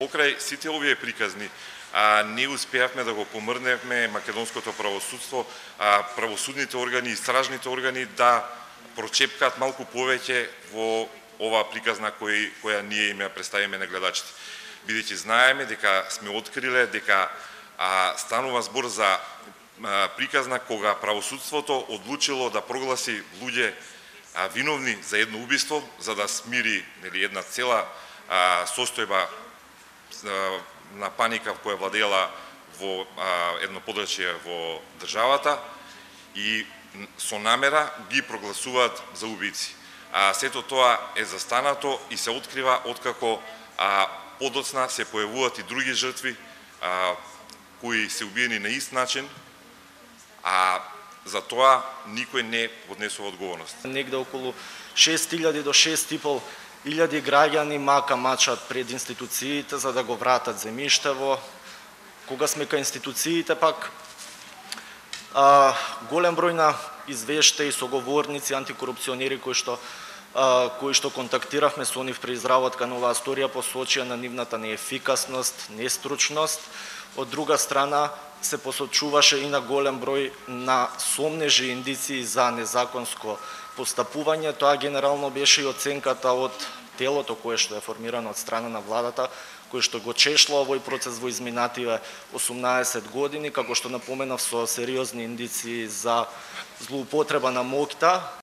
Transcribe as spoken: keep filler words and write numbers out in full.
Покрај сите овие приказни, а, не успеавме да го помрнеме македонското правосудство, а, правосудните органи, истражните органи да прочепкаат малку повеќе во оваа приказна кој, која ние им ја представиме на гледачите. Бидејќи знаеме дека сме откриле дека а, станува збор за а, приказна кога правосудството одлучило да прогласи луѓе а, виновни за едно убиство, за да смири нели, една цела а, состојба на паника која владеела во а, едно подрачје во државата и со намера ги прогласуваат за убици. А сето тоа е застанато и се открива откако а, подоцна се појавуваат и други жртви а, кои се убиени на ист начин, а за тоа никој не поднесува одговорност. Негде околу шест илјади до шест и пол илјади граѓани мака мачат пред институциите за да го вратат земјиштево. Кога сме кај институциите пак а, голем број на извештаи, соговорници, антикорупционери кои што а, кои што контактиравме со нив при изработка на оваа историја посочија на нивната неефикасност, нестручност. Од друга страна се посочуваше и на голем број на сомнежи и индиции за незаконско постапување. Тоа генерално беше и оценката од телото кое што е формирано од страна на владата, кој што го чешла овој процес во изминативе осумнаесет години, како што напоменав, со сериозни индиции за злоупотреба на моќта